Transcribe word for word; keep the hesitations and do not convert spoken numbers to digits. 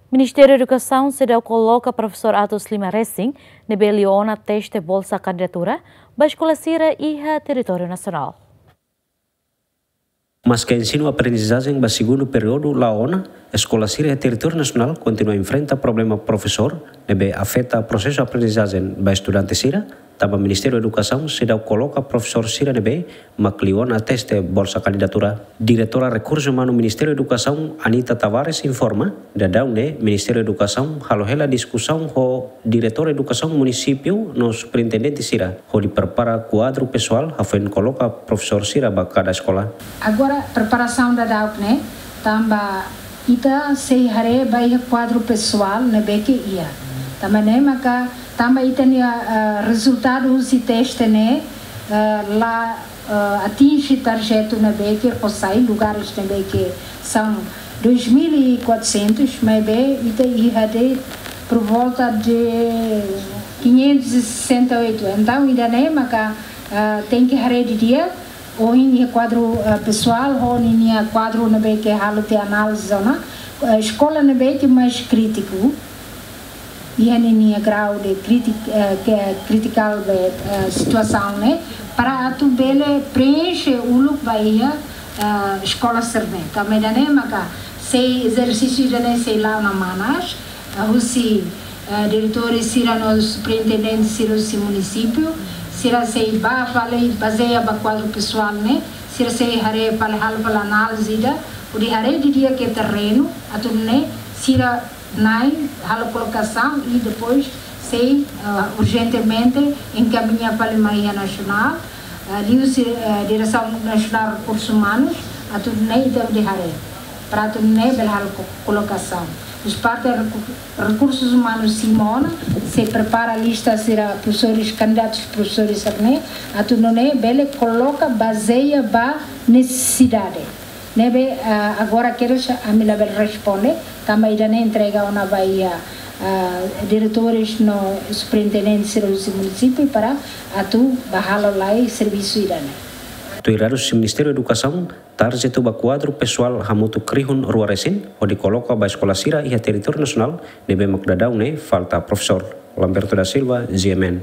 Ministériu Edukasaun seidauk koloka profesór atus lima resin ne'ebé liu ona teste bolsa kandidatura ba eskola sira iha territóriu nasionál. Maske ensinu aprendizajen ba segundu períodu la'o ona, eskola sira iha territóriu nasionál kontinua enfrenta problema profesór ne'ebé afeta prosesu aprendizajen ba estudante sira, tanba Ministériu Edukasaun seidauk koloka profesór sira ne'ebé mak liu ona teste bolsa kandidatura. Diretora Rekursu Umanu Ministériu Edukasaun, Anita Tavares, informa, daudaun ne'e Ministériu Edukasaun halo hela diskusaun ho diretór edukasaun munisípiu no superintendente sira hodi prepara kuadru pesoál hafoin koloka profesór sira ba kada eskola. Agora preparasaun daudauk ne'e, tanba ita sei haree ba iha kuadru pesoál ne'ebé ke iha. Tanba ne'e maka, tanba ita-nia, ah, rezultadu husi teste ne'e, ah, la, ah, atinje tarjetu ne'ebé ke fó sai, lugares ne'ebé ke são dois mil e quatrocentos, maibé ita iha de'it por volta de quinhentos e sessenta e oito. Entaun, ida-ne'e maka, ah, tenke haree didi'ak, ohin iha kuadru, ah, pesoál ho ninia kuadru ne'ebé ke halo tiha análize ona, ah, eskola ne'ebé ke mais krítiku iha ninia grau de kritik, eh, ke kritikál be, eh, situasaun ne'e, para atu bele preenxe uluk ba iha, eh, eskola sira-ne'e. Tanba ida-ne'e maka sei ezersísiu ida-ne'e sei la'o ona manas, eh, husi, eh, diretores sira no superintendente sira husi munisípiu, sira sei bá fali bazeia ba kuadru pesoál ne'e, sira sei haree fali, halo fali análize ida, hodi haree didi'ak iha terrenu, atu nune'e sira na'in halo kolokasaun i depois sei, ah, urjentemente enkamiña fali mai iha nasionál, ah, liuhusi, ah, Diresaun Nasionál Rekursus Umanus, atu nune'e ita hodi haree, para atu nune'e bele halo ko-, kolokasaun. Husi parte reku-, Rekursus Umanus simu ona, sei prepara lista sira profesores, kandidatus profesores sira-ne'e, atu nune'e bele koloka bazeia ba nesesidade. Ne'ebé, ah, agora kedas ami labele responde, tanba ida-ne'e entrega ona ba iha, ah, diretores no superintendente sira husi munisípiu para atu bá halo lai servisu ida-ne'e. Tuir dadus husi Ministériu Edukasaun, tarjetu ba kuadru pesoál hamutuk rihun rua resin, hodi koloka ba eskola sira iha territóriu nasionál, ne'ebé mak daudaun ne'e falta profesór. Lamberto da Silva, G M N.